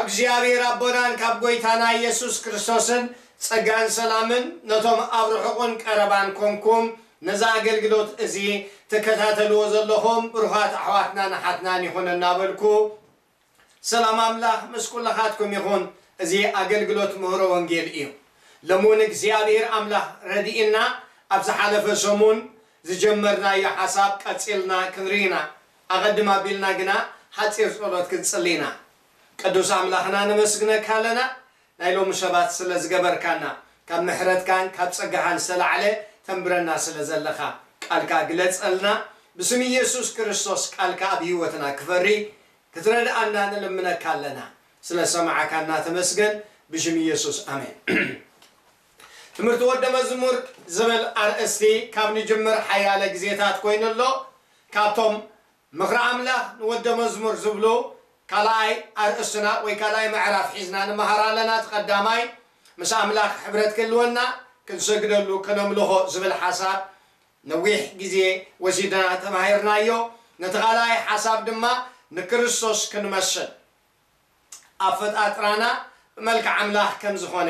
እግዚኣብሔር ኣቦናን ካብ ጐይታና ኢየሱስ ክርስቶስን ጸጋን ሰላምን ነቶም ኣብ ርሑቕን ቀረባን ኮንኩም ነዛ ኣገልግሎት እዚ ትከታተልዎ ዘለኹም ብሩኻት ኣሕዋትናን ኣሓትናን ይኹን እናበልኩ፣ ሰላም ኣምላኽ ምስ ኩልኻትኩም ይኹን። እዚ ኣገልግሎት ምህሮ ወንጌል እዩ። ሎሚ እውን እግዚኣብሔር ኣምላኽ ረድእና ኣብ ዝሓለፈ ሰሙን ዝጀመርናዮ ሓሳብ ቀጺልና ክንርኢ ኢና። ኣቐድም ኣቢልና ግና ሓጺር ጸሎት ክንጽሊ ኢና። ቅዱስ ኣምላኽና ነመስግነካ ኣለና፣ ናይ ሎሚ ሰባት ስለ ዝገበርካና፣ ካብ ምሕረትካን ካብ ጸጋኻን ዝተላዕለ ተንብረና ስለ ዘለኻ። ቃልካ ግለጸልና። ብስም ኢየሱስ ክርስቶስ ቃልካ ኣብ ህይወትና ክፈሪ ክትረድኣና ንልምነካ ኣለና። ስለ ሰማዕካና ተመስገን። ብሽም ኢየሱስ ኣሜን። ትምህርቲ ወደ መዝሙር ዝብል ኣርእስቲ ካብ ንጅምር ሓያለ ግዜታት ኮይኑ ኣሎ። ካብቶም ምኽሪ ኣምላኽ ንወደ መዝሙር ዝብሉ ካልኣይ ኣርእስትና ወይ ካልኣይ ምዕራፍ ሒዝና ንመሃር ኣለና። እቲ ቀዳማይ ምስ ኣምላኽ ሕብረት ክህልወና፣ ክንሰግደሉ፣ ከነምልኾ ዝብል ሓሳብ ነዊሕ ግዜ ወሲድና ተማሂርናዮ። ነቲ ካልኣይ ሓሳብ ድማ ንክርስቶስ ክንመስል ኣፈጣጥራና ብመልክዕ ኣምላኽ ከም ዝኾነ፣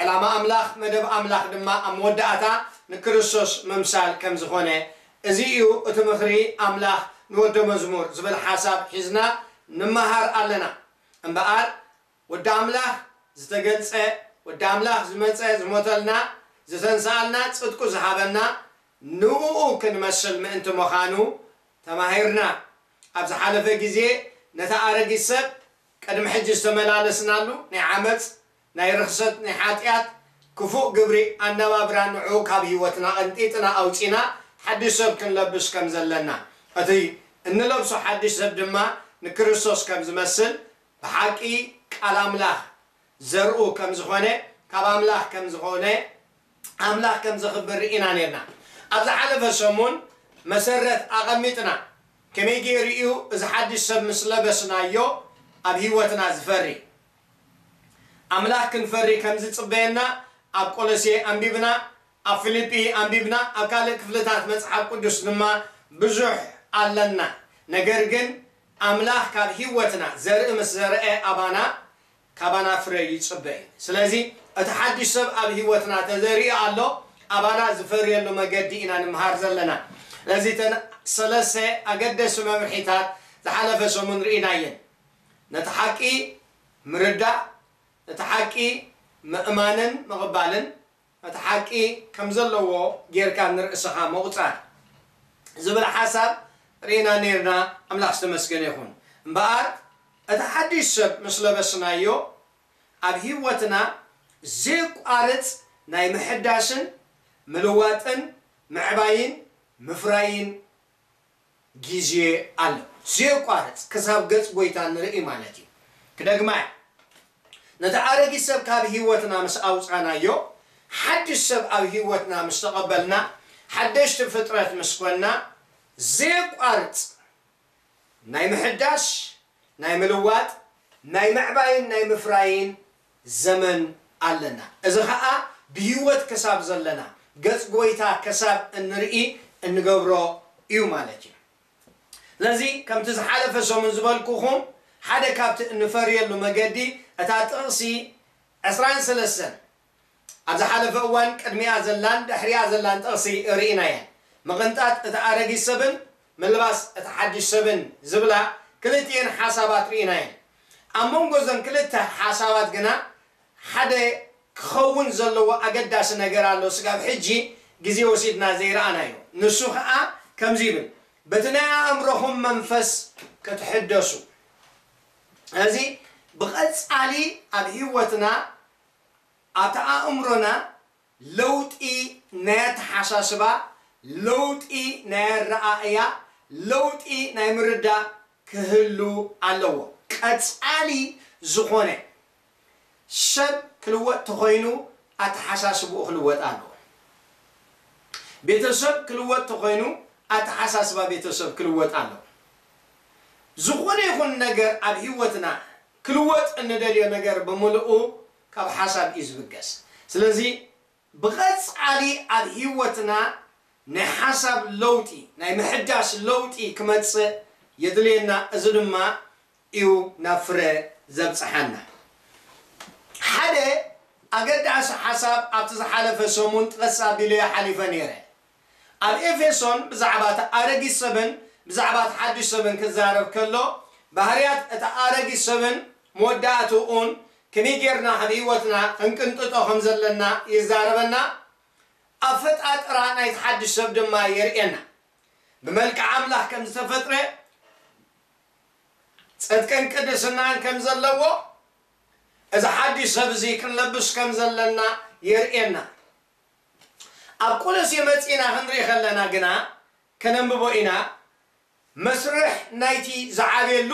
ዕላማ ኣምላኽ፣ መደብ ኣምላኽ ድማ ኣብ መወዳእታ ንክርስቶስ ምምሳል ከም ዝኾነ፣ እዚ እዩ እቲ ምኽሪ ኣምላኽ ንወደ መዝሙር ዝብል ሓሳብ ሒዝና ንመሃር ኣለና። እምበኣር ወዲ ኣምላኽ ዝተገልጸ፣ ወዲ ኣምላኽ ዝመጸ፣ ዝሞተልና፣ ዝተንስኣልና፣ ጽድቁ ዝሃበና፣ ንእኡ ክንመስል ምእንቲ ምዃኑ ተማሂርና። ኣብ ዝሓለፈ ግዜ ነቲ ኣረጊት ሰብ ቅድሚ ሕጂ ዝተመላለስናሉ ናይ ዓመጽ፣ ናይ ርኽሰት፣ ናይ ሓጢኣት ክፉእ ግብሪ ኣነባብራ ንዕኡ ካብ ህይወትና ቀንጢጥና ኣውጺና ሓድሽ ሰብ ክንለብስ ከም ዘለና፣ እቲ እንለብሶ ሓድሽ ሰብ ድማ ንክርስቶስ ከም ዝመስል ብሓቂ ቃል ኣምላኽ ዘርኡ ከም ዝኾነ፣ ካብ ኣምላኽ ከም ዝኾነ፣ ኣምላኽ ከም ዘኽብር ርኢና ነርና። ኣብ ዝሓለፈ ሰሙን መሰረት ኣቐሚጥና። ከመይ ገይሩ እዩ እዚ ሓድሽ ሰብ ምስ ለበስናዮ ኣብ ህይወትና ዝፈሪ? ኣምላኽ ክንፈሪ ከም ዝጽበየና ኣብ ቆሎሴ ኣንቢብና፣ ኣብ ፊልጲ ኣንቢብና፣ ኣብ ካልእ ክፍልታት መጽሓፍ ቅዱስ ድማ ብዙሕ ኣለና። ነገር ግን ኣምላኽ ካብ ህይወትና ዘርኢ ምስ ዘርአ ኣባና፣ ካባና ፍረ ይጽበ እዩ። ስለዚ እቲ ሓድሽ ሰብ ኣብ ህይወትና ተዘሪኡ ኣሎ፣ ኣባና ዝፈርየሉ መገዲ ኢና ንምሃር ዘለና። ስለዚ እተን ሰለስተ ኣገደሲ መምርሒታት ዝሓለፈ ሰሙን ርኢናየን። ነቲ ሓቂ ምርዳእ፣ ነቲ ሓቂ ምእማንን ምቕባልን፣ እቲ ሓቂ ከም ዘለዎ ጌርካ ንርእስኻ ምቑጻር ዝብል ሓሳብ ርኢና ነርና። ኣምላኽ ዝተመስገነ ይኹን። እምበኣር እቲ ሓድሽ ሰብ ምስ ለበስናዮ ኣብ ህይወትና ዘየቋርጽ ናይ ምሕዳስን ምልዋጥን ምዕባይን ምፍራይን ግዜ ኣሎ። ዘየቋርጽ ክሳብ ገጽ ጎይታ ንርኢ ማለት እዩ። ክደግማ እየ። ነቲ ኣረጊት ሰብ ካብ ህይወትና ምስ ኣውጻናዮ፣ ሓድሽ ሰብ ኣብ ህይወትና ምስ ተቐበልና፣ ሓደሽቲ ፍጥረት ምስ ኮንና፣ ዘየቋርጽ ናይ ምሕዳስ፣ ናይ ምልዋጥ፣ ናይ ምዕባይን ናይ ምፍራይን ዘመን ኣለና። እዚ ኸኣ ብህይወት ክሳብ ዘለና፣ ገጽ ጎይታ ክሳብ እንርኢ እንገብሮ እዩ ማለት እዩ። ስለዚ ከምቲ ዝሓለፈ ሰሙን ዝበልኩኹም፣ ሓደ ካብቲ እንፈርየሉ መገዲ እታ ጥቕሲ ዕስራን ሰለስተን ኣብ ዝሓለፈ እዋን ቅድሚኣ ዘላን ድሕሪኣ ዘላን ጥቕሲ ርኢናየን። ምቕንጣጥ እቲ ኣረጊት ሰብን ምልባስ እቲ ሓድሽ ሰብን ዝብላ ክልቲኤን ሓሳባት ርኢናየን። ኣብ መንጎ እዘን ክልተ ሓሳባት ግና ሓደ ክኸውን ዘለዎ ኣገዳሲ ነገር ኣሎ፣ ስጋብ ሕጂ ግዜ ወሲድና ዘይረኣናዮ። ንሱ ኸኣ ከምዚ ይብል፣ በቲ ናይ ኣእምሮኹም መንፈስ ክትሕደሱ። እዚ ብቐጻሊ ኣብ ህይወትና፣ ኣብቲ ኣእምሮና ለውጢ ናይ ኣተሓሳስባ፣ ለውጢ ናይ ኣረኣእያ፣ ለውጢ ናይ ምርዳእ ክህሉ ኣለዎ። ቀጻሊ ዝኾነ ሰብ ክልወጥ ተኾይኑ ኣተሓሳስብኡ ክልወጥ ኣለዎ። ቤተሰብ ክልወጥ ተኾይኑ ኣተሓሳስባ ቤተሰብ ክልወጥ ኣለዎ። ዝኾነ ይኹን ነገር ኣብ ህይወትና ክልወጥ እንደልዮ ነገር ብምልኡ ካብ ሓሳብ እዩ ዝብገስ። ስለዚ ብቐጻሊ ኣብ ህይወትና ናይ ሓሳብ ለውጢ፣ ናይ ምሕዳስ ለውጢ ክመጽእ የድልየና። እዚ ድማ እዩ ናብ ፍረ ዘብጽሓና። ሓደ ኣገዳሲ ሓሳብ ኣብቲ ዝሓለፈ ሰሙን ጥቐስ ኣቢለዮ ሓሊፈ ነይረ። ኣብ ኤፌሶን ብዛዕባ እቲ ኣረጊት ሰብን ብዛዕባ እቲ ሓድሽ ሰብን ክዛረብ ከሎ፣ ባህርያት እቲ ኣረጊት ሰብን መወዳእትኡን ከመይ ጌርና ካብ ህይወትና ክንቅንጥጦ ከም ዘለና ይዛረበና። ኣፈጣጥራ ናይቲ ሓድሽ ሰብ ድማ የርእየና። ብመልክዕ ኣምላኽ ከም ዝተፈጥረ፣ ጽድቅን ቅድስናን ከም ዘለዎ፣ እዚ ሓድሽ ሰብ እዚ ክንለብስ ከም ዘለና የርእየና። ኣብ ቆሎሴ መጺና ክንርኢ ከለና ግና፣ ከነንብቦ ኢና። መስርሕ ናይቲ ዝዓብየሉ፣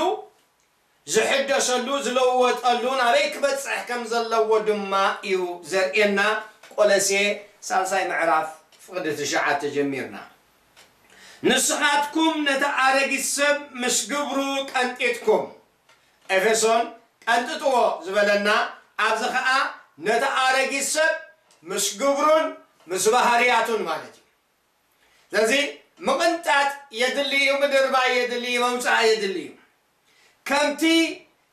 ዝሕደሰሉ፣ ዝለወጠሉ፣ ናበይ ክበጽሕ ከም ዘለዎ ድማ እዩ ዘርእየና። ቆሎሴ ሳልሳይ ምዕራፍ ፍቕዲ ትሽዓተ ጀሚርና። ንስኻትኩም ነቲ ኣረጊት ሰብ ምስ ግብሩ ቀንጢጥኩም፣ ኤፌሶን ቀንጥጥዎ ዝበለና፣ ኣብዚ ኸኣ ነቲ ኣረጊት ሰብ ምስ ግብሩን ምስ ባህርያቱን ማለት እዩ። ስለዚ ምቕንጣጥ የድሊ እዩ፣ ምድርባይ የድሊ እዩ፣ መውጻእ የድሊ እዩ። ከምቲ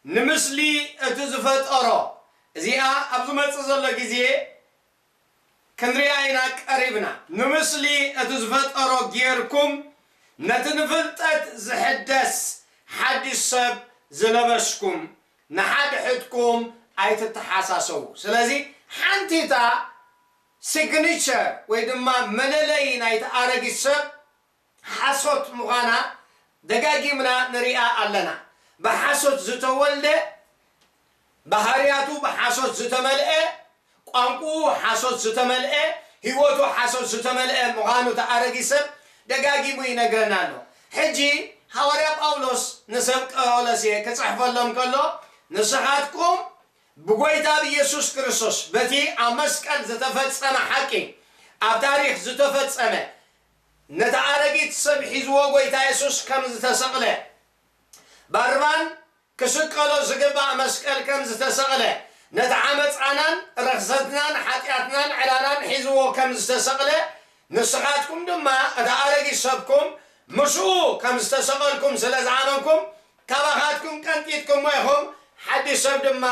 ንምስሊ እቲ ዝፈጠሮ፣ እዚኣ ኣብ ዝመጽእ ዘሎ ግዜ ክንሪኣ ኢና ቀሪብና። ንምስሊ እቲ ዝፈጠሮ ጌርኩም ነቲ ንፍልጠት ዝሕደስ ሓድሽ ሰብ ዝለበስኩም ንሓድሕድኩም ኣይትተሓሳሰቡ። ስለዚ ሓንቲታ ሲግኒቸር ወይ ድማ መለለዪ ናይቲ ኣረጊት ሰብ ሓሶት ምዃና ደጋጊምና ንሪኣ ኣለና። ብሓሶት ዝተወልደ፣ ባህርያቱ ብሓሶት ዝተመልአ፣ ቋንቋኡ ሓሶት ዝተመልአ፣ ህይወቱ ሓሶት ዝተመልአ ምዃኑ እቲ ኣረጊት ሰብ ደጋጊሙ ይነግረና ኣሎ። ሕጂ ሃዋርያ ጳውሎስ ንሰብ ቆሎሴ ክጽሕፈሎም ከሎ፣ ንስኻትኩም ብጎይታ ብኢየሱስ ክርስቶስ በቲ ኣብ መስቀል ዝተፈጸመ ሓቂ፣ ኣብ ታሪኽ ዝተፈጸመ፣ ነቲ ኣረጊት ሰብ ሒዝዎ ጎይታ የሱስ ከም ዝተሰቕለ፣ ባርባን ክስቀሎ ዝግባእ መስቀል ከም ዝተሰቕለ፣ ነቲ ዓመጻናን ረኽሰትናን ሓጢኣትናን ዕላናን ሒዝዎ ከም ዝተሰቕለ፣ ንስኻትኩም ድማ እቲ ኣረጊት ሰብኩም ምስኡ ከም ዝተሰቐልኩም ስለ ዝኣመንኩም፣ ካባኻትኩም ቀንጢጥኩሞ ኢኹም፣ ሓድሽ ሰብ ድማ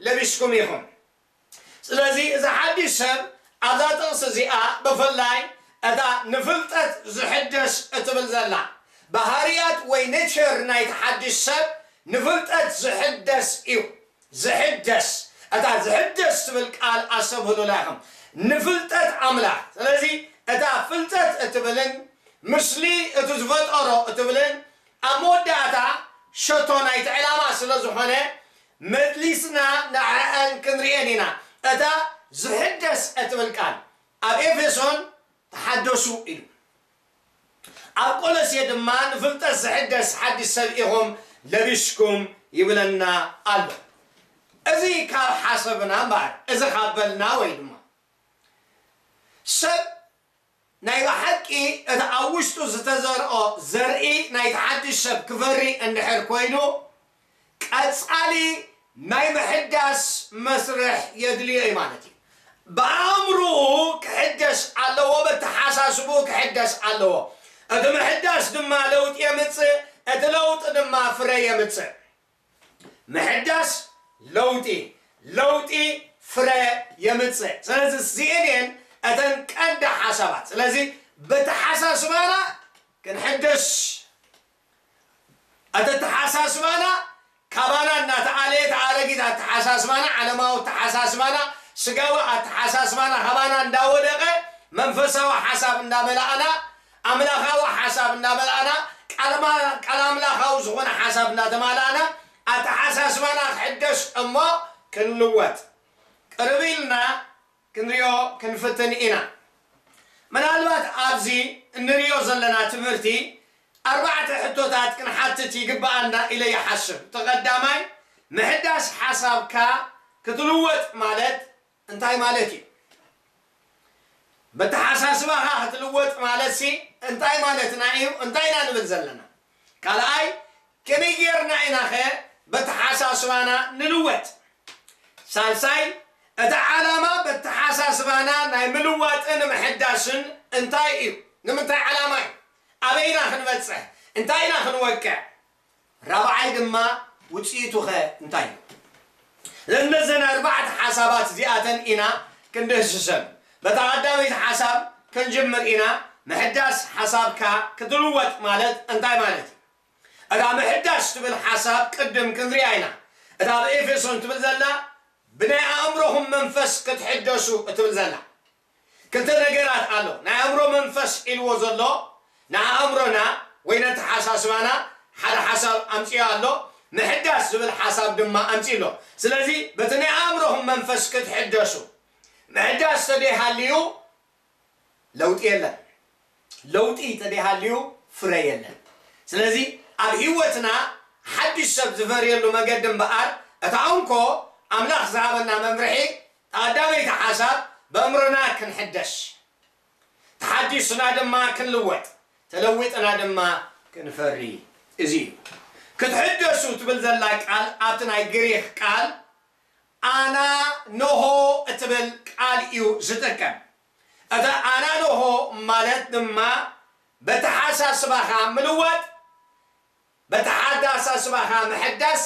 ለቢስኩም ኢኹም። ስለዚ እዚ ሓድሽ ሰብ ኣብዛ ጥቕሲ እዚኣ ብፍላይ እታ ንፍልጠት ዝሕደስ እትብል ዘላ ባህርያት ወይ ኔቸር ናይቲ ሓድሽ ሰብ ንፍልጠት ዝሕደስ እዩ። ዝሕደስ፣ እታ ዝሕደስ ትብል ቃል ኣስተብህሉላ ኢኹም። ንፍልጠት ኣምላኽ። ስለዚ እታ ፍልጠት እትብልን ምስሊ እቲ ዝፈጠሮ እትብልን ኣብ መወዳእታ ሸቶ ናይቲ ዕላማ ስለ ዝኾነ መሊስና ንዕኣን ክንርእየን ኢና። እታ ዝሕደስ እትብል ቃል ኣብ ኤፌሶን ተሓደሱ ኢሉ፣ ኣብ ቆሎሴ ድማ ንፍልጠት ዝሕደስ ሓድሽ ሰብ ኢኹም ለቢስኩም ይብለና ኣሎ። እዚ ካብ ሓሰብና እምበኣር፣ እዚ ካብ በልና ወይ ድማ ሰብ ናይ ብሓቂ እቲ ኣብ ውሽጡ ዝተዘርኦ ዘርኢ ናይቲ ሓድሽ ሰብ ክፈሪ እንድሕር ኮይኑ፣ ቀጻሊ ናይ ምሕዳስ መስርሕ የድልዮ እዩ ማለት እዩ። ብኣእምሮኡ ክሕደስ ኣለዎ፣ በተሓሳስብኡ ክሕደስ ኣለዎ። እቲ ምሕዳስ ድማ ለውጢ የምጽእ፣ እቲ ለውጢ ድማ ፍረ የምጽእ። ምሕዳስ ለውጢ፣ ለውጢ ፍረ የምጽእ። ስለዚ እዚኤን እየን እተን ቀንዲ ሓሳባት። ስለዚ በተሓሳስባና ክንሕደስ፣ እቲ ኣተሓሳስባና ካባና እናተኣለየ፣ እቲ ኣረጊት ኣተሓሳስባና፣ ዓለማዊ ኣተሓሳስባና፣ ስጋዊ ኣተሓሳስባና ካባና እንዳወደቐ፣ መንፈሳዊ ሓሳብ እንዳመላእና፣ ኣምላኻዊ ሓሳብ እንዳመላእና፣ ቃል ኣማ-፣ ቃል ኣምላኻዊ ዝኾነ ሓሳብ እንዳተማላእና፣ ኣተሓሳስባና ክሕደስ እሞ ክንልወጥ ቅርብ ኢልና ክንሪኦ ክንፍትን ኢና። ምናልባት ኣብዚ እንሪኦ ዘለና ትምህርቲ ኣርባዕተ ሕቶታት ክንሓትት ይግብኣና ኢለ ይሓስብ። እቲ ቀዳማይ፣ ምሕዳስ ሓሳብካ ክትልወጥ ማለት እንታይ ማለት እዩ? በተሓሳስባኻ ክትልወጥ ማለትሲ እንታይ ማለትና እዩ? እንታይ ኢና ንብል ዘለና? ካልኣይ፣ ከመይ ጌርና ኢናኸ በተሓሳስባና ንልወጥ? ሳልሳይ፣ እቲ ዓላማ በተሓሳስባና ናይ ምልዋጥን ምሕዳስን እንታይ እዩ? ንምንታይ ዓላማ እዩ? ኣበይ ኢና ክንበጽሕ? እንታይ ኢና ክንወቅዕ? ራብዓይ ድማ፣ ውጽኢቱኸ እንታይ እዩ? ነዘን ኣርባዕተ ሓሳባት እዚኣተን ኢና ክንድህስሰን። በታ ቀዳመይቲ ሓሳብ ክንጅምር ኢና። ምሕዳስ ሓሳብካ ክትልወጥ ማለት እንታይ ማለት እዩ? እታ ምሕዳስ ትብል ሓሳብ ቅድም ክንሪኣ ኢና። እታ ኣብ ኤፌሶን ትብል ዘላ ብናይ ኣእምሮኹም መንፈስ ክትሕደሱ እትብል ዘላ ክልተ ነገራት ኣሎ። ናይ ኣእምሮ መንፈስ ኢልዎ ዘሎ ንኣእምሮና ወይ ነተሓሳስባና ሓደ ሓሳብ ኣምፅኦ ኣሎ። ምሕዳስ ዝብል ሓሳብ ድማ ኣምፅኡ ኣሎ። ስለዚ በቲ ናይ ኣእምሮኹም መንፈስ ክትሕደሱ፣ ምሕዳስ ተደይሃልዩ ለውጢ የለን። ለውጢ ተደይሃልዩ ፍረ የለን። ስለዚ ኣብ ህይወትና ሓድሽ ሰብ ዝፈርየሉ መገዲ እምበኣር እታ እንኮ ኣምላኽ ዝሃበና መምርሒ፣ ቀዳመይቲ ሓሳብ ብእምሮና ክንሕደሽ፣ ተሓዲስና ድማ ክንልወጥ፣ ተለዊጥና ድማ ክንፈሪ። እዚ እዩ። ክትሕደሱ ትብል ዘላ ቃል ኣብቲ ናይ ግሪክ ቃል ኣናኖሆ እትብል ቃል እዩ ዝጥቀም። እታ ኣናኖሆ ማለት ድማ በተሓሳስባኻ ምልዋጥ፣ በተሓሳስባኻ ምሕዳስ፣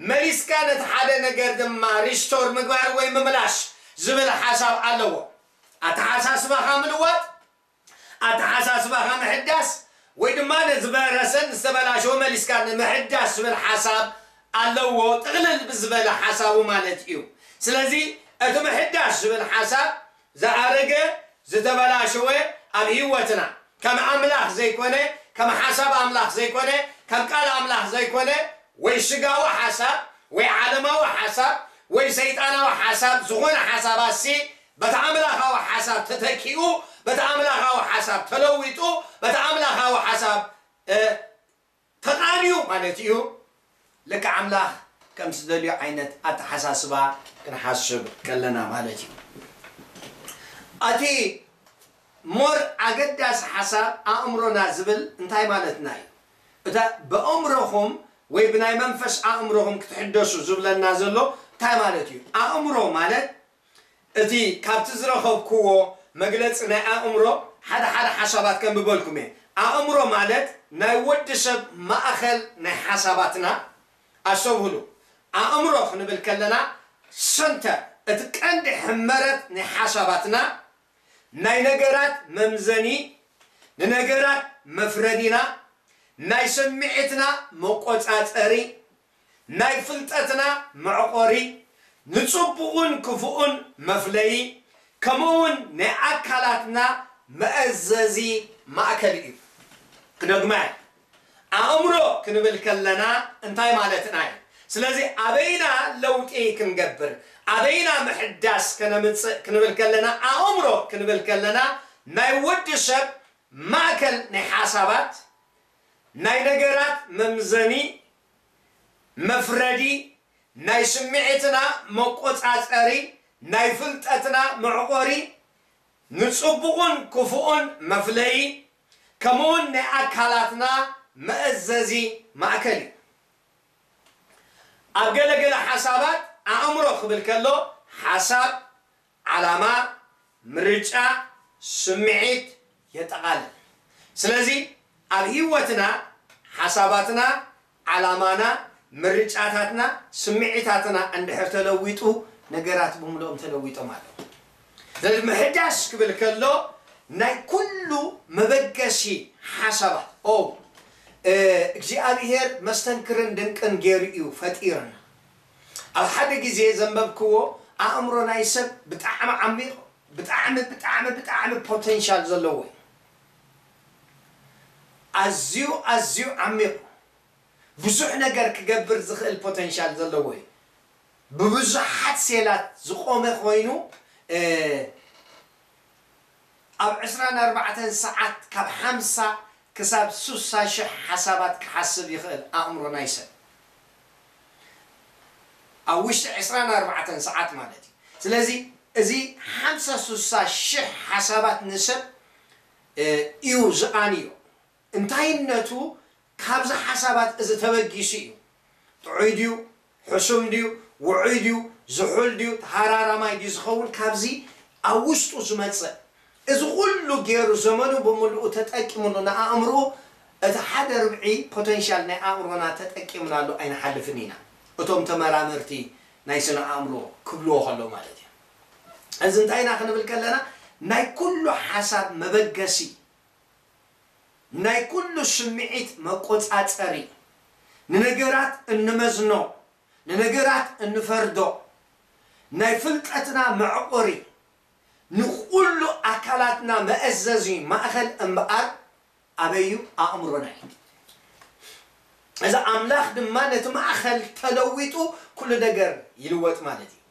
መሊስካ ነቲ ሓደ ነገር ድማ ሪስቶር ምግባር ወይ ምምላሽ ዝብል ሓሳብ ኣለዎ። ኣተሓሳስባኻ ምልዋጥ፣ ኣተሓሳስባኻ ምሕዳስ ወይ ድማ ነዝበረሰን ዝተበላሸወ መሊስካ ንምሕዳስ ዝብል ሓሳብ ኣለዎ። ጥቕልል ብዝበለ ሓሳቡ ማለት እዩ። ስለዚ እቲ ምሕዳስ ዝብል ሓሳብ ዝኣረገ ዝተበላሸወ ኣብ ህይወትና ከም ኣምላኽ ዘይኮነ፣ ከም ሓሳብ ኣምላኽ ዘይኮነ፣ ከም ቃል ኣምላኽ ዘይኮነ፣ ወይ ስጋዊ ሓሳብ ወይ ዓለማዊ ሓሳብ ወይ ሰይጣናዊ ሓሳብ ዝኾነ ሓሳባሲ በቲ ኣምላኻዊ ሓሳብ ተተኪኡ፣ በቲ ኣምላኻዊ ሓሳብ ተለዊጡ፣ በቲ ኣምላኻዊ ሓሳብ ተቃንዩ ማለት እዩ። ልክዕ ኣምላኽ ከም ዝደልዮ ዓይነት ኣተሓሳስባ ክንሓስብ ከለና ማለት እዩ። እቲ ሞር ኣገዳሲ ሓሳብ ኣእምሮና ዝብል እንታይ ማለትና እዩ? እታ ብኣእምሮኹም ወይ ብናይ መንፈስ ኣእምሮኹም ክትሕደሱ ዝብለና ዘሎ እንታይ ማለት እዩ? ኣእምሮ ማለት እቲ ካብቲ ዝረኸብክዎ መግለጺ ናይ ኣእምሮ ሓደ ሓደ ሓሳባት ከንብበልኩም እየ። ኣእምሮ ማለት ናይ ወዲ ሰብ ማእኸል ናይ ሓሳባትና፣ ኣስተውህሉ። ኣእምሮ ክንብል ከለና ሰንተር፣ እቲ ቀንዲ ሕመረት ናይ ሓሳባትና፣ ናይ ነገራት መምዘኒ፣ ንነገራት መፍረዲና፣ ናይ ስምዒትና መቆጻጸሪ፣ ናይ ፍልጠትና መዕቆሪ፣ ንጽቡቕን ክፉእን መፍለዪ፣ ከምኡ እውን ናይ ኣካላትና መእዘዚ ማእከል እዩ። ክደግማ እየ። ኣእምሮ ክንብል ከለና እንታይ ማለትና እዩ? ስለዚ ኣበይና ለውጢ ክንገብር፣ ኣበይና ምሕዳስ ከነምጽእ ክንብል ከለና፣ ኣእምሮ ክንብል ከለና ናይ ወዲ ሰብ ማእከል ናይ ሓሳባት፣ ናይ ነገራት መምዘኒ፣ መፍረዲ፣ ናይ ስምዒትና መቆጻጸሪ፣ ናይ ፍልጠትና መዕቆሪ፣ ንጽቡቕን ክፉእን መፍለዪ፣ ከምኡውን ናይ ኣካላትና መእዘዚ ማእከል እዩ። ኣብ ገለገለ ሓሳባት ኣእምሮ ክብል ከሎ ሓሳብ፣ ዓላማ፣ ምርጫ፣ ስምዒት የጠቓልል። ስለዚ ኣብ ህይወትና ሓሳባትና፣ ዓላማና፣ ምርጫታትና፣ ስምዒታትና እንድሕር ተለዊጡ ነገራት ብምልኦም ተለዊጦም ኣለዉ። ስለዚ ምሕዳስ ክብል ከሎ ናይ ኩሉ መበገሲ ሓሳባት ኦ እግዚኣብሔር መስተንክርን ድንቅን ገይሩ እዩ ፈጢርና። ኣብ ሓደ ግዜ ዘንበብክዎ ኣእምሮ ናይ ሰብ ብጣዕሚ ዓሚቕ፣ ብጣዕሚ ብጣዕሚ ብጣዕሚ ፖቴንሻል ዘለዎ እዩ። ኣዝዩ ኣዝዩ ዓሚቕ፣ ብዙሕ ነገር ክገብር ዝኽእል ፖቴንሻል ዘለዎ እዩ። ብብዙሓት ሴላት ዝቆመ ኮይኑ ኣብ ዕስራን ኣርባዕተን ሰዓት ካብ ሓምሳ ክሳብ ሱሳ ሽሕ ሓሳባት ክሓስብ ይኽእል ኣእምሮ ናይ ሰብ ኣብ ውሽጢ ዕስራን ኣርባዕተን ሰዓት ማለት እዩ። ስለዚ እዚ ሓምሳ ሱሳ ሽሕ ሓሳባት ንሰብ እዩ ዝቓንዮ። እንታይነቱ ካብዚ ሓሳባት እዚ ተበጊሱ እዩ። ጥዑይ ድዩ? ሕሱም ድዩ? ውዑይ ድዩ? ዝሑል ድዩ? ተሃራራማይ ድዩ ዝኸውን? ካብዚ ኣብ ውሽጡ ዝመጽእ እዚ ኩሉ ገይሩ ዘመኑ ብምልኡ ተጠቂምሉ ንኣእምርኡ እቲ ሓደ ርብዒ ፖተንሻል ናይ ኣእምሮና ተጠቂምናሉ ኣይንሓልፍን ኢና። እቶም ተመራመርቲ ናይ ስነ ኣእምሮ ክብልዎ ከለዉ ማለት እዩ። እዚ እንታይ ኢና ክንብል ከለና፣ ናይ ኩሉ ሓሳብ መበገሲ፣ ናይ ኩሉ ስምዒት መቆጻጸሪ፣ ንነገራት እንመዝኖ፣ ንነገራት እንፈርዶ፣ ናይ ፍልጠትና መዕቆሪ፣ ንኹሉ ኣካላትና መእዘዚ ማእኸል እምበኣር ኣበይ እዩ? ኣእምሮና እዩ። እዚ ኣምላኽ ድማ ነቲ ማእኸል ተለዊጡ ኩሉ ነገር ይልወጥ ማለት እዩ።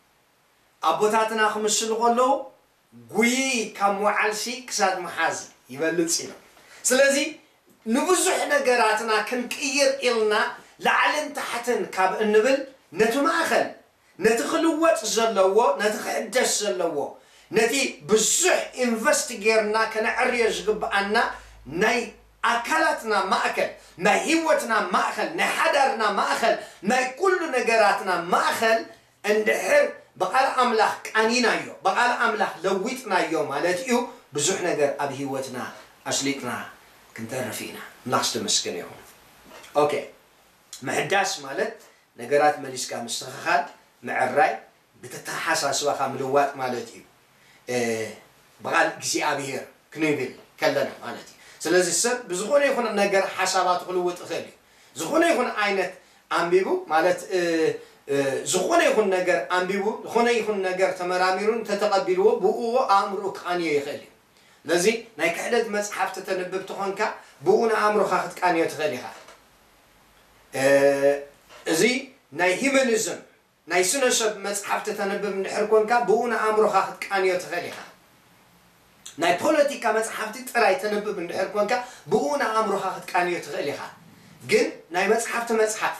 ኣቦታትና ክምስሉ ከለዉ፣ ጉይ ካብ ምውዓልሲ ክሳድ ምሓዝ ይበልጽ ኢሎም። ስለዚ ንብዙሕ ነገራትና ክንቅይር ኢልና ላዕልን ታሕትን ካብ እንብል፣ ነቲ ማእኸል፣ ነቲ ክልወጥ ዘለዎ፣ ነቲ ክሕደስ ዘለዎ፣ ነቲ ብዙሕ ኢንቨስት ጌርና ከነዕርዮ ዝግብኣና ናይ ኣካላትና ማእከል፣ ናይ ህይወትና ማእከል፣ ናይ ሓዳርና ማእከል፣ ናይ ኩሉ ነገራትና ማእከል እንድሕር ብቓል ኣምላኽ ቃኒናዮ፣ ብቓል ኣምላኽ ለዊጥናዮ ማለት እዩ፣ ብዙሕ ነገር ኣብ ህይወትና ኣስሊጥና ክንተርፍ ኢና። ኣምላኽ ዝተመስገነ ይኹን። ኦኬ፣ ምሕዳስ ማለት ነገራት መሊስካ ምስትኽኻል፣ ምዕራይ፣ ብተተሓሳስባኻ ምልዋጥ ማለት እዩ። እ፣ ብቓል እግዚኣብሔር ክንብል ከለና ማለት እዩ። ስለዚ ሰብ ብዝኾነ ይኹን ነገር ሓሳባቱ ክልውጥ ይኽእል እዩ። ዝኾነ ይኹን ዓይነት ኣንቢቡ ማለት፣ እ፣ እ፣ ዝኾነ ይኹን ነገር ኣንቢቡ፣ ዝኾነ ይኹን ነገር ተመራሚሩ እንተተቐቢልዎ፣ ብእኡ ኣእምሮኡ ክቓንዮ ይኽእል እዩ። ስለዚ ናይ ክሕደት መጽሓፍቲ ተንብብ ተኾንካ፣ ብኡ ንኣእምሮኻ ክትቃንዮ ትኽእል ኢኻ። እ፣ እዚ ናይ ሂዩማኒዝም ናይ ስነ ሰብ መጽሓፍቲ ተንብብ እንድሕር ኮንካ፣ ብኡ ንኣእምሮኻ ክትቃንዮ ትኽእል ኢኻ። ናይ ፖለቲካ መጽሓፍቲ ጥራይ ተንብብ እንድሕር ኮንካ፣ ብኡ ንኣእምሮኻ ክትቃንዮ ትኽእል ኢኻ። ግን ናይ መጽሓፍቲ መጽሓፍ፣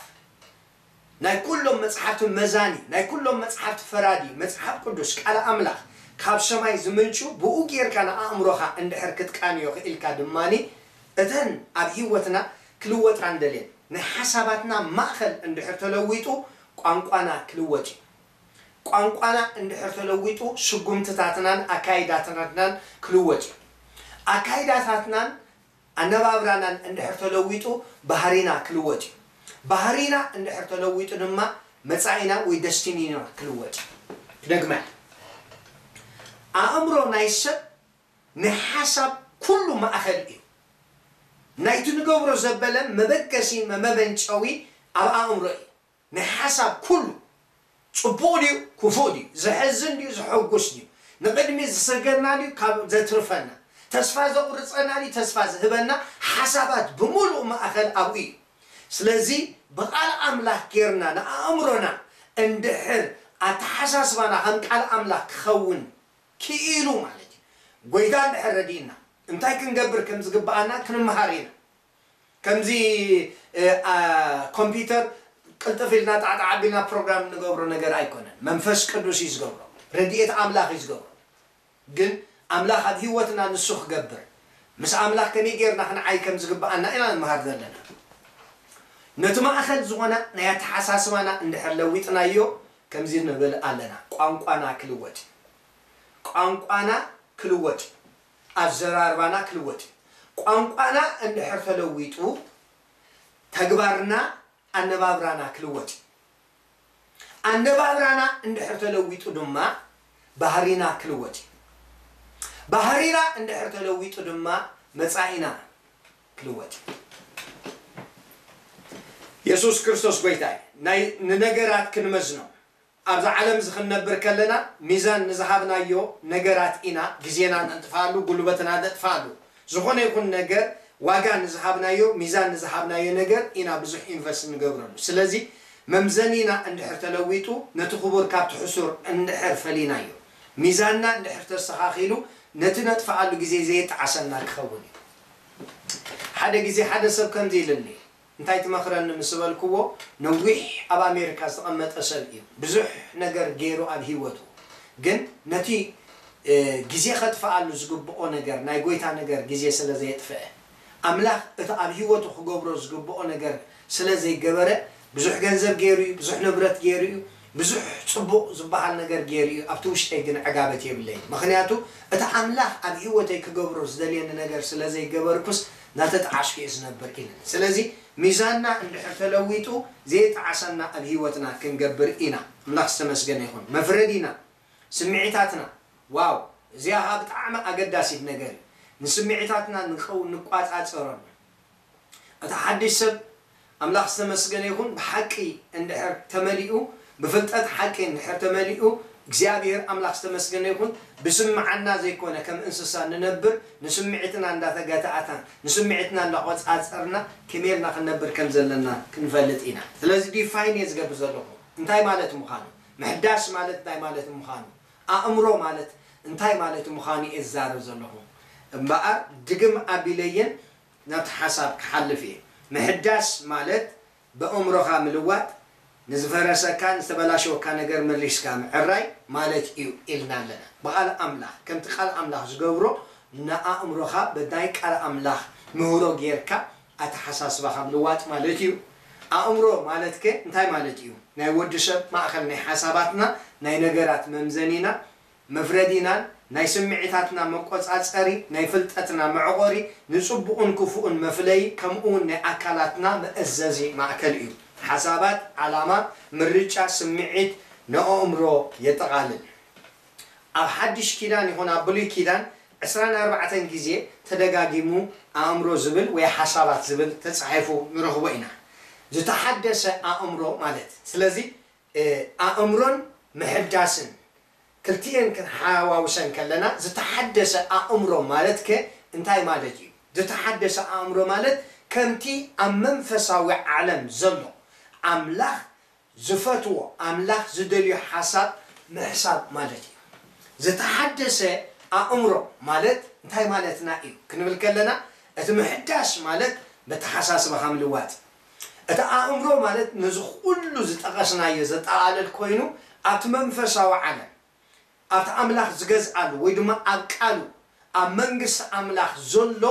ናይ ኩሎም መጽሓፍቲ መዛኒ፣ ናይ ኩሎም መጽሓፍቲ ፈራዲ፣ መጽሓፍ ቅዱስ፣ ቃል ኣምላኽ፣ ካብ ሰማይ ዝምንጩ፣ ብኡ ጌርካ ንኣእምሮኻ እንድሕር ክትቃንዮ ክኢልካ ድማኒ፣ እተን ኣብ ህይወትና ክልወጣ እንደልየን፣ ናይ ሓሳባትና ማእከል እንድሕር ተለዊጡ፣ ቋንቋና ክልወጥ እዩ። ቋንቋና እንድሕር ተለዊጡ፣ ስጉምትታትናን ኣካይዳታትናን ክልወጥ እዩ። ኣካይዳታትናን ኣነባብራናን እንድሕር ተለዊጡ፣ ባህሪና ክልወጥ እዩ። ባህሪና እንድሕር ተለዊጡ ድማ፣ መጻኢና ወይ ደስቲኒና ክልወጥ እዩ። ክደግማ፣ ኣእምሮ ናይ ሰብ ናይ ሓሳብ ኩሉ ማእከል እዩ። ናይቲ ንገብሮ ዘበለ መበገሲ መመንጨዊ ኣብ ኣእምሮ እዩ። ናይ ሓሳብ ኩሉ ጽቡቕ ድዩ ክፉእ ድዩ፣ ዘሕዝን ድዩ ዘሐጉስ ድዩ፣ ንቕድሚት ዝሰገርና ድዩ ካብ ዘትርፈና፣ ተስፋ ዘቑርጸና ድዩ ተስፋ ዝህበና፣ ሓሳባት ብምሉእ ማእከል ኣብኡ እዩ። ስለዚ ብቓል ኣምላኽ ጌርና ንኣእምሮና እንድሕር ኣተሓሳስባና ከም ቃል ኣምላኽ ክኸውን ክኢሉ ማለት እዩ። ጎይታ እንድሕር ረዲእና እንታይ ክንገብር ከም ዝግብኣና ክንመሃር ኢና። ከምዚ፣ እ፣ ኣ፣ ኮምፒውተር ቅልጥፍ ኢልና ጣዕጣዕ ኣቢልና ፕሮግራም እንገብሮ ነገር ኣይኮነን። መንፈስ ቅዱስ እዩ ዝገብሮ። ረድኤት ኣምላኽ እዩ ዝገብሮ። ግን ኣምላኽ ኣብ ህይወትና ንሱ ክገብር፣ ምስ ኣምላኽ ከመይ ጌርና ክንዓይ ከም ዝግብኣና ኢና ንመሃር ዘለና። ነቲ ማእከል ዝኾነ ናይ ኣተሓሳስባና እንድሕር ለዊጥናዮ፣ ከምዚ ንብል ኣለና፣ ቋንቋና ክልወጥ እዩ። ቋንቋና ክልወጥ እዩ። ኣዘራርባና ክልወጥ እዩ። ቋንቋና እንድሕር ተለዊጡ፣ ተግባርና፣ ኣነባብራና ክልወጥ እዩ። ኣነባብራና እንድሕር ተለዊጡ ድማ፣ ባህሪና ክልወጥ እዩ። ባህሪና እንድሕር ተለዊጡ ድማ፣ መጻኢና ክልወጥ እዩ። የሱስ ክርስቶስ ጎይታ እዩ። ናይ፣ ንነገራት ክንመዝኖ፣ ኣብዛ ዓለም እዚ ክንነብር ከለና፣ ሚዛን ንዝሃብናዮ ነገራት ኢና ግዜና ነጥፍኣሉ፣ ጉልበትና ነጥፍኣሉ። ዝኾነ ይኹን ነገር፣ ዋጋ ንዝሃብናዮ፣ ሚዛን ንዝሃብናዮ ነገር ኢና ብዙሕ ኢንቨስት ንገብረሉ። ስለዚ መምዘኒና እንድሕር ተለዊጡ፣ ነቲ ክቡር ካብቲ ሕሱር እንድሕር ፈሊናዮ፣ ሚዛንና እንድሕር ተስተኻኺሉ፣ ነቲ ነጥፍኣሉ ግዜ ዘየጣዕሰና ክኸውን እዩ። ሓደ ግዜ ሓደ ሰብ ከምዚ ኢሉኒ፣ እንታይ ትመኽረኒ ምስ በልክዎ፣ ነዊሕ ኣብ ኣሜሪካ ዝተቐመጠ ሰብ እዩ። ብዙሕ ነገር ገይሩ ኣብ ህይወቱ። ግን ነቲ፣ እ፣ ግዜ ከጥፍኣሉ ዝግብኦ ነገር፣ ናይ ጎይታ ነገር ግዜ ስለ ዘየጥፍአ፣ ኣምላኽ እቲ ኣብ ህይወቱ ክገብሮ ዝግብኦ ነገር ስለ ዘይገበረ፣ ብዙሕ ገንዘብ ገይሩ እዩ፣ ብዙሕ ንብረት ገይሩ እዩ፣ ብዙሕ ጽቡቕ ዝበሃል ነገር ገይሩ እዩ፣ ኣብቲ ውሽጠይ ግን ዕጋበት የብለይን። ምኽንያቱ፣ እቲ ኣምላኽ ኣብ ህይወተይ ክገብሮ ዝደልየኒ ነገር ስለ ዘይገበርኩስ፣ እናተጠዓስኩ እየ ዝነብር ኢሉኒ። ስለዚ፣ ሚዛንና እንድሕር ተለዊጡ፣ ዘይጠዓሰና ኣብ ህይወትና ክንገብር ኢና። ኣምላኽ ዝተመስገነ ይኹን። መፍረዲና፣ ስምዒታትና፣ ዋው፣ እዚኣ ኸኣ ብጣዕሚ ኣገዳሲት ነገር እዩ። ንስምዒታትና ንቀው-፣ ንቋጻጸሮም። እቲ ሓድሽ ሰብ፣ ኣምላኽ ዝተመስገነ ይኹን፣ ብሓቂ እንድሕር ተመሊኡ፣ ብፍልጠት ሓቂ እንድሕር ተመሊኡ፣ እግዚኣብሔር ኣምላኽ ዝተመስገነ ይኹን፣ ብስምዓና ዘይኮነ ከም እንስሳ ንነብር፣ ንስምዒትና እንዳተገታእና፣ ንስምዒትና እንዳቆጻጸርና፣ ከመይ ኢልና ክንነብር ከም ዘለና ክንፈልጥ ኢና። ስለዚ ዲፋይን እየ ዝገብር ዘለኹ። እንታይ ማለት ምዃኑ፣ ምሕዳስ ማለት እንታይ ማለት ምዃኑ፣ ኣእምሮ ማለት እንታይ ማለት ምዃኑ እየ ዝዛረብ ዘለኹ። እምበኣር ድግም ኣቢለየን ናብቲ ሓሳብ ክሓልፍ እየ። ምሕዳስ ማለት ብኣእምሮኻ ምልዋጥ፣ ንዝፈረሰካ፣ ንዝተበላሸወካ ነገር መሊስካ ምዕራይ ማለት እዩ ኢልና ኣለና። ብቓል ኣምላኽ፣ ከምቲ ቃል ኣምላኽ ዝገብሮ፣ ንኣእምሮኻ ብናይ ቃል ኣምላኽ ምህሮ ጌርካ ኣተሓሳስባኻ ምልዋጥ ማለት እዩ። ኣእምሮ ማለትከ እንታይ ማለት እዩ? ናይ ወዲ ሰብ ማእከል ናይ ሓሳባትና፣ ናይ ነገራት መምዘኒና፣ መፍረዲናን ናይ ስምዒታትና መቆጻጸሪ፣ ናይ ፍልጠትና መዕቆሪ፣ ንጽቡቕን ክፉእን መፍለዪ፣ ከምኡ እውን ናይ ኣካላትና መእዘዚ ማእከል እዩ። ሓሳባት፣ ዓላማ፣ ምርጫ፣ ስምዒት፣ ንኣእምሮ የጠቓልል። ኣብ ሓድሽ ኪዳን ይኹን ኣብ ብሉይ ኪዳን ዕስራን ኣርባዕተን ግዜ ተደጋጊሙ ኣእምሮ ዝብል ወይ ሓሳባት ዝብል ተጻሒፉ ንረኽቦ ኢና። ዝተሓደሰ ኣእምሮ ማለት። ስለዚ፣ እ፣ ኣእምሮን ምሕዳስን ክልቲኤን ክንሓዋውሰን ከለና፣ ዝተሓደሰ ኣእምሮ ማለትከ እንታይ ማለት እዩ? ዝተሓደሰ ኣእምሮ ማለት ከምቲ ኣብ መንፈሳዊ ዓለም ዘሎ ኣምላኽ ዝፈትዎ፣ ኣምላኽ ዝደልዮ ሓሳብ ምሕሳብ ማለት እዩ። ዝተሓደሰ ኣእምሮ ማለት እንታይ ማለትና እዩ ክንብል ከለና፣ እቲ ምሕዳስ ማለት መተሓሳስባኻ ምልዋጥ። እቲ ኣእምሮ ማለት ነዚ ኩሉ ዝጠቐስናዮ ዘጠቓልል ኮይኑ፣ ኣብቲ መንፈሳዊ ዓለም፣ ኣብቲ ኣምላኽ ዝገዝኣሉ ወይ ድማ ኣብ ቃሉ፣ ኣብ መንግስቲ ኣምላኽ ዘሎ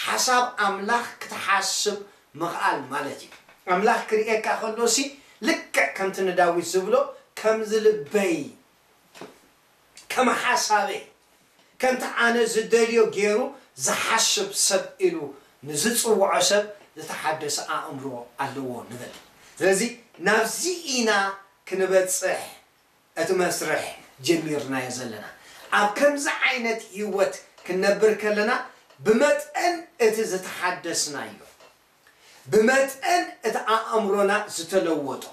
ሓሳብ ኣምላኽ ክትሓስብ ምኽኣል ማለት እዩ። ኣምላኽ ክርእየካ ከሎሲ፣ ልክዕ ከምቲ ንዳዊት ዝብሎ፣ "ከምዚ ልበይ፣ ከም ሓሳበይ፣ ከምቲ ኣነ ዝደልዮ ገይሩ ዝሓስብ ሰብ" ኢሉ ንዝጽውዖ ሰብ ዝተሓደሰ ኣእምሮ ኣለዎ ንብል። ስለዚ ናብዚ ኢና ክንበጽሕ እቲ መስርሕ ጀሚርናዮ ዘለና። ኣብ ከምዚ ዓይነት ህይወት ክንነብር ከለና፣ ብመጠን እቲ ዝተሓደስናዮ፣ ብመጠን እቲ ኣእምሮና ዝተለወጦ፣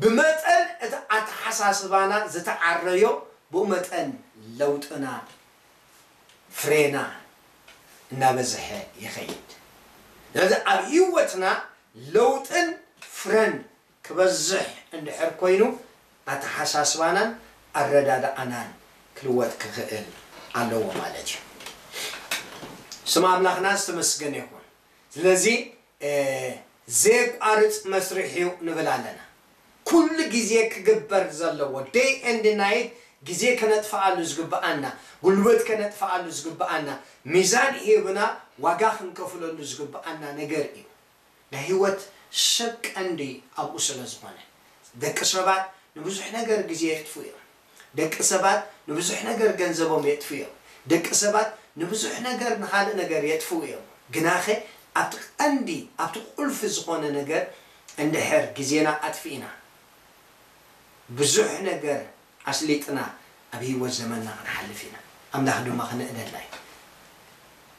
ብመጠን እቲ ኣተሓሳስባና ዝተዓረዮ፣ ብኡ መጠን ለውጥና፣ ፍሬና እናበዝሐ ይኸይድ። ስለዚ ኣብ ህይወትና ለውጥን ፍረን ክበዝሕ እንድሕር ኮይኑ፣ ኣተሓሳስባናን ኣረዳድኣናን ክልወጥ ክኽእል ኣለዎ ማለት እዩ። ስም ኣምላኽና ዝተመስገነ ይኹን። ስለዚ፣ እ፣ ዘየቋርጽ መስርሕ እዩ ንብል ኣለና። ኩሉ ግዜ ክግበር ዘለዎ፣ day and night፣ ግዜ ከነጥፍኣሉ ዝግብኣና፣ ጉልበት ከነጥፍኣሉ ዝግብኣና፣ ሚዛን ሂብና ዋጋ ክንከፍለሉ ዝግብኣና ነገር እዩ። ናይ ህይወት ሰብ ቀንዲ ኣብኡ ስለ ዝኾነ፣ ደቂ ሰባት ንብዙሕ ነገር ግዜ የጥፍኡ እዮም። ደቂ ሰባት ንብዙሕ ነገር ገንዘቦም የጥፍኡ እዮም። ደቂ ሰባት ንብዙሕ ነገር፣ ንኻልእ ነገር የጥፍኡ እዮም። ግናኸ ኣብቲ ቀንዲ፣ ኣብቲ ቁልፊ ዝኾነ ነገር እንድሕር ግዜና ኣጥፊእና፣ ብዙሕ ነገር ኣስሊጥና ኣብ ህይወት ዘመንና ክንሓልፍ ኢና። ኣምላኽ ድማ ክንእደና እዩ።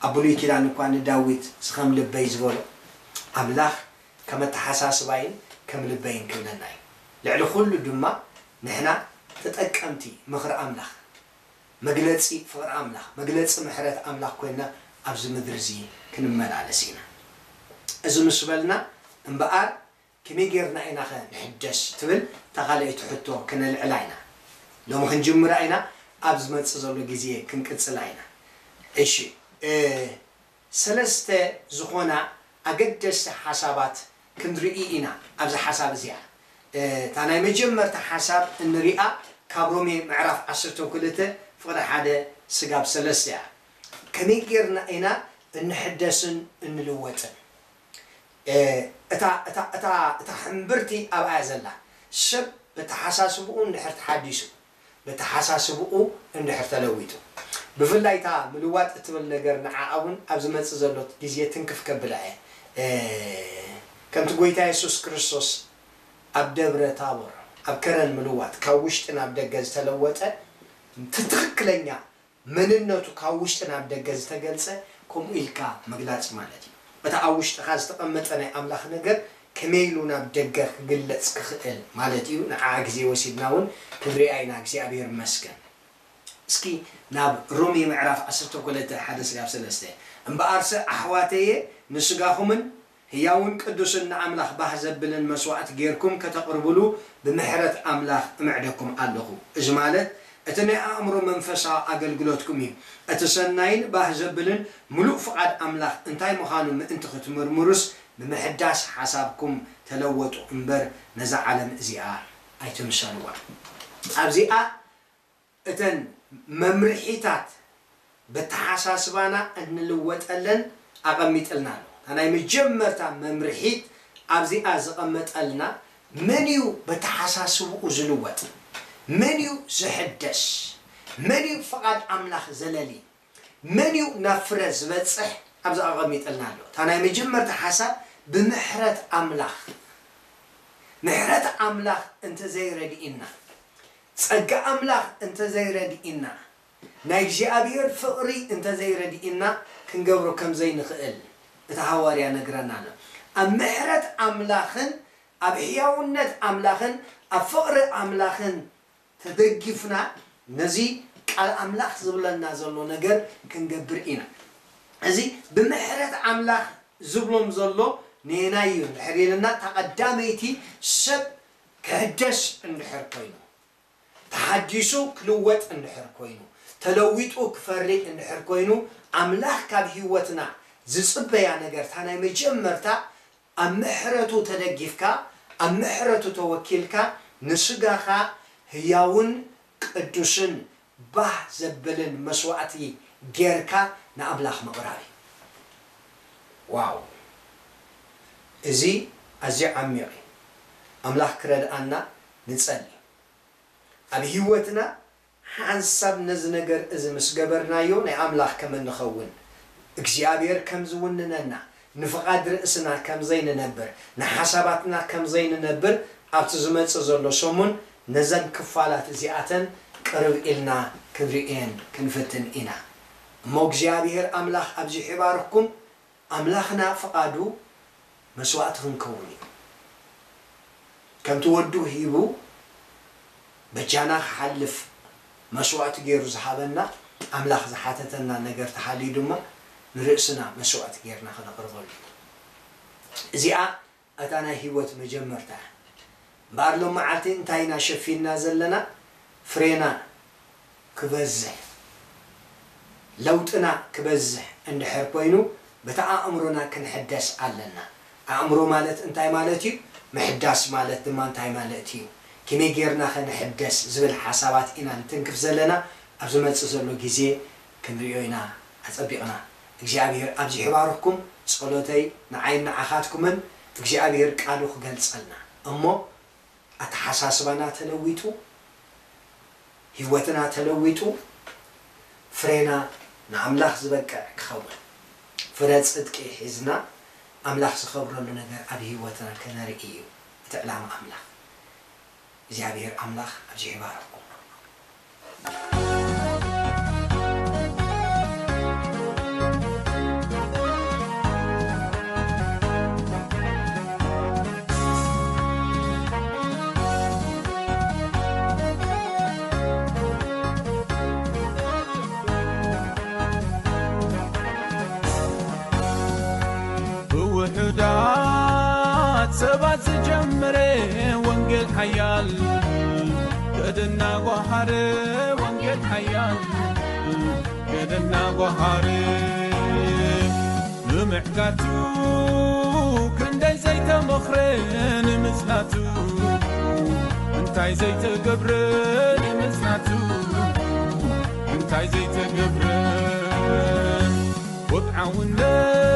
ኣብ ብሉይ ኪዳን እኳ ንዳዊት፣ "እዚ ከም ልበይ" ዝበሎ፣ ኣምላኽ ከም ኣተሓሳስባይን ከም ልበይን ክብለና እዩ። ልዕሊ ኩሉ ድማ ንሕና ተጠቀምቲ ምኽሪ ኣምላኽ፣ መግለጺ ፍቕሪ ኣምላኽ፣ መግለጺ ምሕረት ኣምላኽ ኮይንና ኣብዚ ምድሪ እዚ ክንመላለስ ኢና። እዚ ምስ በልና እምበኣር፣ ከመይ ጌርና ኢናኸ ንሕደስ ትብል እታ ካልኣይቲ ሕቶ ክነልዕላ ኢና። ሎሚ ክንጅምራ ኢና፣ ኣብ ዝመጽእ ዘሎ ግዜ ክንቅጽላ ኢና። እሺ፣ እ፣ ሰለስተ ዝኾና ኣገደስቲ ሓሳባት ክንርኢ ኢና ኣብዚ ሓሳብ እዚኣ። እ፣ እታ ናይ መጀመርታ ሓሳብ እንሪኣ ካብ ሮሜ ምዕራፍ ዓሰርተ ክልተ ፍቕዲ ሓደ ስጋብ ሰለስተ እያ። ከመይ ጌርና ኢና እንሕደስን እንልወጥን? እ፣ እታ፣ እታ፣ እታ፣ እታ ሕምብርቲ ኣብኣ እያ ዘላ። ሰብ በተሓሳስብኡ እንድሕር ተሓዲሱ፣ በተሓሳስብኡ እንድሕር ተለዊጡ፣ ብፍላይ እታ ምልዋጥ እትብል ነገር ንዓኣ እውን ኣብ ዝመጽእ ዘሎ ግዜ ትንክፍ ከብላ እየ። እ፣ ከምቲ ጎይታ የሱስ ክርስቶስ ኣብ ደብረ ታቦር ኣብ ከረን ምልዋጥ ካብ ውሽጢ ናብ ደገ ዝተለወጠ፣ እቲ ትኽክለኛ መንነቱ ካብ ውሽጢ ናብ ደገ ዝተገልጸ፣ ከምኡ ኢልካ ምግላጽ ማለት እዩ። እቲ ኣብ ውሽጥኻ ዝተቐመጠ ናይ ኣምላኽ ነገር ከመይ ኢሉ ናብ ደገ ክግለጽ ክኽእል ማለት እዩ። ንዓ ግዜ ወሲድና እውን ክንሪኣ ኢና። እግዚኣብሔር ይመስገን። እስኪ ናብ ሮሜ ምዕራፍ ዓሰርተ ክልተ ሓደ ስጋብ ሰለስተ፣ እምበኣርሰ ኣሕዋተየ ንስጋኹምን ህያውን ቅዱስን ንኣምላኽ ባህ ዘብልን መስዋእቲ ጌርኩም ከተቕርብሉ ብምሕረት ኣምላኽ እምዕደኩም ኣለኹ። እዚ ማለት እቲ ናይ ኣእምሮ መንፈሳዊ ኣገልግሎትኩም እዩ። እቲ ሰናይን ባህ ዘብልን ምሉእ ፍቓድ ኣምላኽ እንታይ ምዃኑ ምእንቲ ክትምርምሩስ ብምሕዳስ ሓሳብኩም ተለወጡ እምበር ነዛ ዓለም እዚኣ ኣይትምሰልዋ። ኣብዚኣ እተን መምርሒታት በተሓሳስባና እንልወጠለን ኣቐሚጥልና ኣሎ። እታ ናይ መጀመርታ መምርሒት ኣብዚኣ ዘቐመጠልና፣ መን እዩ በተሓሳስብኡ ዝልወጥ? መን እዩ ዝሕደስ? መን እዩ ፍቓድ ኣምላኽ ዘለሊ? መን እዩ ናብ ፍረ ዝበጽሕ? ኣብዚ ኣቐሚጥልና ኣሎ። እታ ናይ መጀመርታ ሓሳብ ብምሕረት ኣምላኽ፣ ምሕረት ኣምላኽ እንተዘይረድኢና፣ ጸጋ ኣምላኽ እንተዘይረድኢና፣ ናይ እግዚኣብሔር ፍቕሪ እንተዘይረድኢና፣ ክንገብሮ ከም ዘይንኽእል እቲ ሃዋርያ ነግረና ኣሎ። ኣብ ምሕረት ኣምላኽን ኣብ ሕያውነት ኣምላኽን ኣብ ፍቕሪ ኣምላኽን ተደጊፍና ነዚ ቃል ኣምላኽ ዝብለና ዘሎ ነገር ክንገብር ኢና። እዚ ብምሕረት ኣምላኽ ዝብሎም ዘሎ ነየናይ እዩ እንድሕር ኢልና፣ እታ ቀዳመይቲ ሰብ ክሕደስ እንድሕር ኮይኑ፣ ተሓዲሱ ክልወጥ እንድሕር ኮይኑ፣ ተለዊጡ ክፈሪ እንድሕር ኮይኑ፣ ኣምላኽ ካብ ህይወትና ዝጽበያ ነገር፣ እታ ናይ መጀመርታ ኣብ ምሕረቱ ተደጊፍካ፣ ኣብ ምሕረቱ ተወኪልካ፣ ንስጋኻ ህያውን ቅዱስን ባህ ዘብልን መስዋእቲ ጌርካ ንኣምላኽ ምቕራብ እዩ። ዋው! እዚ ኣዝዩ ዓሚቕ እዩ። ኣምላኽ ክረድኣና ንጸሊ። ኣብ ህይወትና ሓንሳብ ነዚ ነገር እዚ ምስ ገበርናዮ፣ ናይ ኣምላኽ ከም እንኸውን፣ እግዚኣብሔር ከም ዝውንነና፣ ንፍቓድ ርእስና ከም ዘይንነብር፣ ንሓሳባትና ከም ዘይንነብር፣ ኣብቲ ዝመጽእ ዘሎ ሰሙን ነዘን ክፋላት እዚኣተን ቅርብ ኢልና ክንርእየን ክንፍትን ኢና። እሞ እግዚኣብሔር ኣምላኽ ኣብዚሑ ይባርኽኩም። ኣምላኽና ፍቓዱ መስዋእቲ ክንከውን እዩ። ከምቲ ወዱ ሂቡ በጃና ክሓልፍ መስዋእቲ ገይሩ ዝሃበና፣ ኣምላኽ ዝሓተተና ነገር ተሃልዩ ድማ ንርእስና መስዋእቲ ጌርና ከነቕርበሉ እዩ። እዚኣ እታ ናይ ህይወት መጀመርታ እያ። እምበኣር ሎም መዓልቲ እንታይ ኢና ሸፊንና ዘለና? ፍሬና ክበዝሕ፣ ለውጥና ክበዝሕ እንድሕር ኮይኑ፣ በቲ ኣእምሮና ክንሕደስ ኣለና። ኣእምሮ ማለት እንታይ ማለት እዩ? ምሕዳስ ማለት ድማ እንታይ ማለት እዩ? ከመይ ጌርና ከ ንሕደስ ዝብል ሓሳባት ኢና ንትንክፍ ዘለና። ኣብ ዝመጽእ ዘሎ ግዜ ክንርእዮ ኢና ኣጸቢቕና። እግዚኣብሔር ኣብዚሑ ይባርኽኩም። ጸሎተይ ንዓይን ንዓኻትኩምን፣ እግዚኣብሔር ቃሉ ክገልጸልና እሞ፣ ኣተሓሳስባና ተለዊጡ፣ ህይወትና ተለዊጡ፣ ፍሬና ንኣምላኽ ዝበቅዕ ክኸውን፣ ፍረ ጽድቂ ሒዝና ኣምላኽ ዝኸብረሉ ነገር ኣብ ህይወትና ከነርኢ እዩ እቲ ዕላማ ኣምላኽ። እግዚኣብሔር ኣምላኽ ኣብዚሑ ይባርኽኩም። ብውሑዳት ሰባት ዝጀመረ ወንጌል ሓያል፣ ገደና ጓሃረ ወንጌል ሓያል፣ ገደና ጓሃረ። ንምዕጋቱ ክንደይ ዘይተመኽረ ንምጽናቱ፣ እንታይ ዘይተገብረ ንምጽናቱ፣ እንታይ ዘይተገብረ። ወግዓውነት